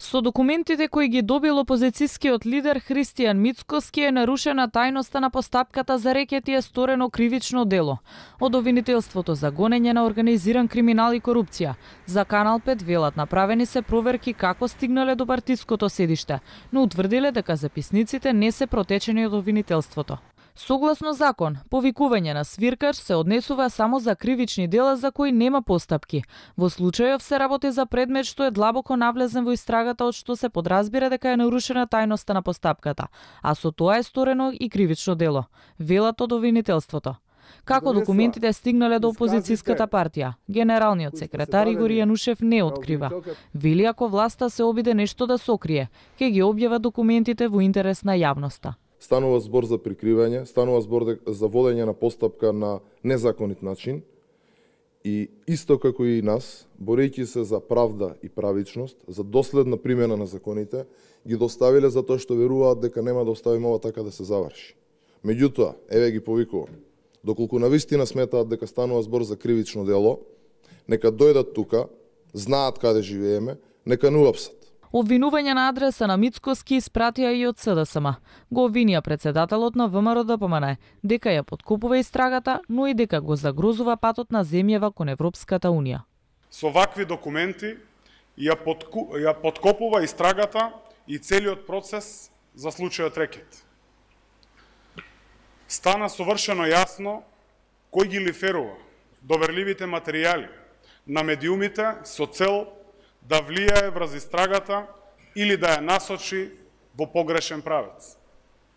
Со документите кои ги добил опозицијскиот лидер Христијан Мицкоски е нарушена тајноста на постапката за рекет и е сторено кривично дело. Од обвинителството за гонење на организиран криминал и корупција. За Канал 5 велат направени се проверки како стигнале до партиското седиште, но утврдиле дека записниците не се протечени од обвинителството. Согласно закон, повикување на свиркач се однесува само за кривични дела за кои нема постапки. Во случајов се работи за предмет што е длабоко навлезен во истрагата, од што се подразбира дека е нарушена тајноста на постапката, а со тоа е сторено и кривично дело, велат од обвинителството. Како документите стигнале до опозицијската партија, генералниот секретар Игор Јанушев не открива. Вели ако власта се обиде нешто да сокрие, ќе ги објава документите во интерес на јавноста. Станува збор за прикривање, станува збор за водење на постапка на незаконит начин и исто како и нас, борејќи се за правда и правичност, за доследна примена на законите, ги доставиле затоа што веруваат дека нема да оставиме ова така да се заврши. Меѓутоа, еве ги повикувам, доколку навистина сметаат дека станува збор за кривично дело, нека дојдат тука, знаат каде живееме, нека не уапсат. Обвинување на адреса на Мицкоски испратија и од СДСМ. Го обвинија председателот на ВМРО-ДПМН дека ја подкупува истрагата, но и дека го загрозува патот на земјава кон Европската Унија. Со вакви документи ја подкопува истрагата и целиот процес за случајот рекет. Стана совршено јасно кој ги лиферува доверливите материјали на медиумите со цел да влијае врз истрагата или да ја насочи во погрешен правец.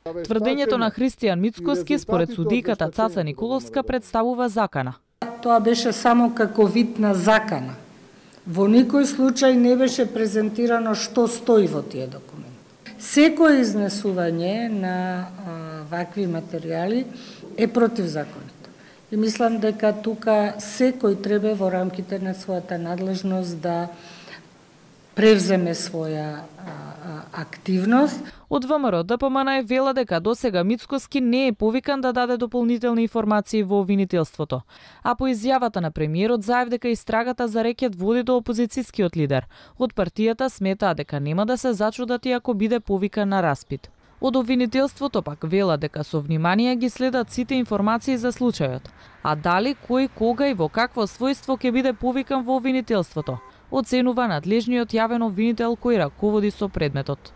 Тврдењето на Христијан Мицкоски според судијката Цаца Николовска представува закана. Тоа беше само како вид на закана. Во никој случај не беше презентирано што стои во тие документи. Секој изнесување на вакви материјали е противзаконито. И мислам дека тука секој треба во рамките на својата надлежност да превземе своја активност. Од ВМРО-ДПМН вела дека досега Мицкоски не е повикан да даде дополнителни информации во обвинителството, а по изјавата на премиерот заев дека истрагата за рекет води до опозицијскиот лидер. Од партијата сметаа дека нема да се зачудат и ако биде повикан на распит. Од обвинителството пак вела дека со внимание ги следат сите информации за случајот, а дали кој, кога и во какво својство ќе биде повикан во обвинителството, оценува надлежниот јавен обвинител кој раководи со предметот.